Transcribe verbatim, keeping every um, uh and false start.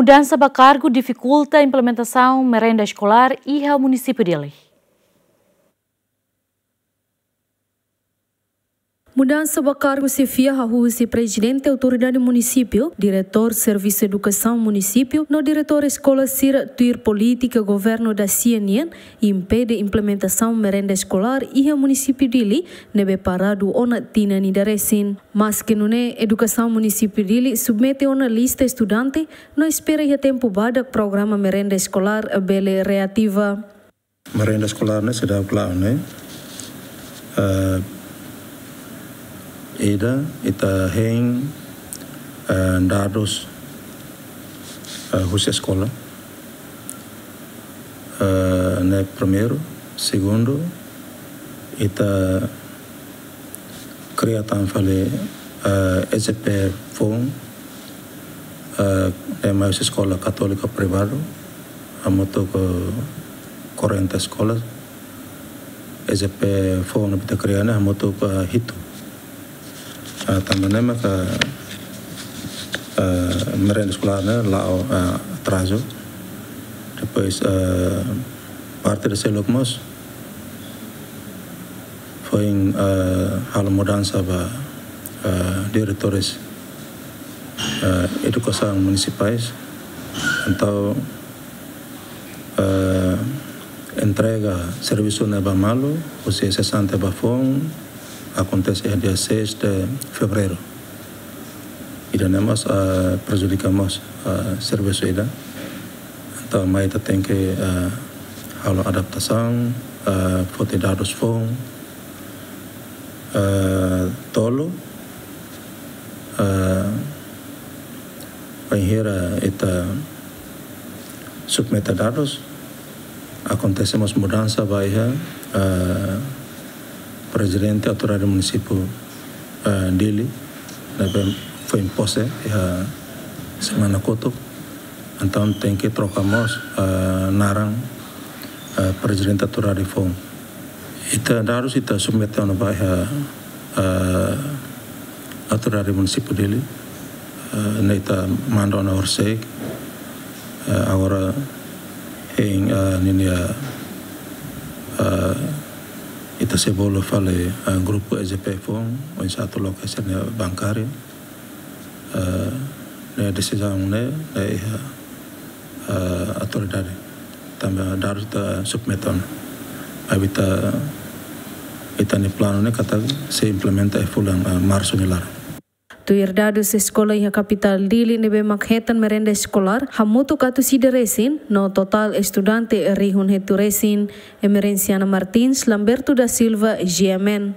Mudansa ba kargu difikulta implementasaun merenda eskolár iha munisípiu Dili. Mudansa ba kargu xefia hahú husi Prezidente Autoridade Munisípiu, Diretór Servisu Edukasaun Munisípiu, no diretór eskola sira tuir polítika governu dasia nian, impede implementasaun merenda eskolár iha munisípiu Dili, ne'ebé paradu ona tinan ida resin. Maske nune'e, edukasaun munisípiu Dili submete ona lista estudante, no espera iha tempu badak programa merenda eskolár bele reativa. Merenda eskolár ne'e seidauk la'o ne'e. Eh, ida, ita hein, eh, dadus, eh, husi eskola. Eh, ne'e primeiru, segundu, ita kria tan fali, eh, E J P foun, eh, ne'e mai husi eskola katólika privadu, hamutuk ho quarenta eskolas, E J P foun ne'ebé ita kria ne'e hamutuk ho hitu. Ah, tanba ne'e maka, eh, merenda eskolár ne'e la'o, eh, atrazu. Depois, eh, parte ida seluk mós foin, eh, halo mudansa ba, eh, diretores, eh, edukasaun munisipais. Entaun, eh, entrega servisu ne'e ba malu, husi sesante ba foun, akontese iha dia seis de fevereiru. Ida-ne'e mós, eh, prejudika mós, eh, servisu ida. Entaun, mai ita tenke, eh, halo adaptasaun, eh, foti dadus foun, eh, tolu, eh, bainhira ita submete dadus, akontese mós mudansa ba iha, eh, Prezidente Autoridade Munisípiu, eh, Dili, ne'ebé foin pose iha semana kotuk. Entaun tenke troka mós, eh, naran, eh, Prezidente Autoridade foun. Ita dadus ita submete ona ba iha, eh, Autoridade Munisípiu Dili, eh, ne'e ita manda ona horisehik, eh, agora hein, eh, ninia, eh, ita sei bolu fali, eh, grupu E J P foun, oinsá atu loke sira-nia bankáriu. Eh, ne'e desizaun ne'e, ne'e iha, eh, autoridade. Tanba dadus ita submete ona. Maibé ita, ita-nia planu ne'e katak sei implementa iha fulan, eh, Marsu nia laran. Tuir dadus eskola iha kapitál Dili ne'ebé mak hetan merenda eskolár, hamutuk atus ida resin, no totál estudante rihun hitu resin. Emerenciana Martins, Lamberto da Silva, G M N.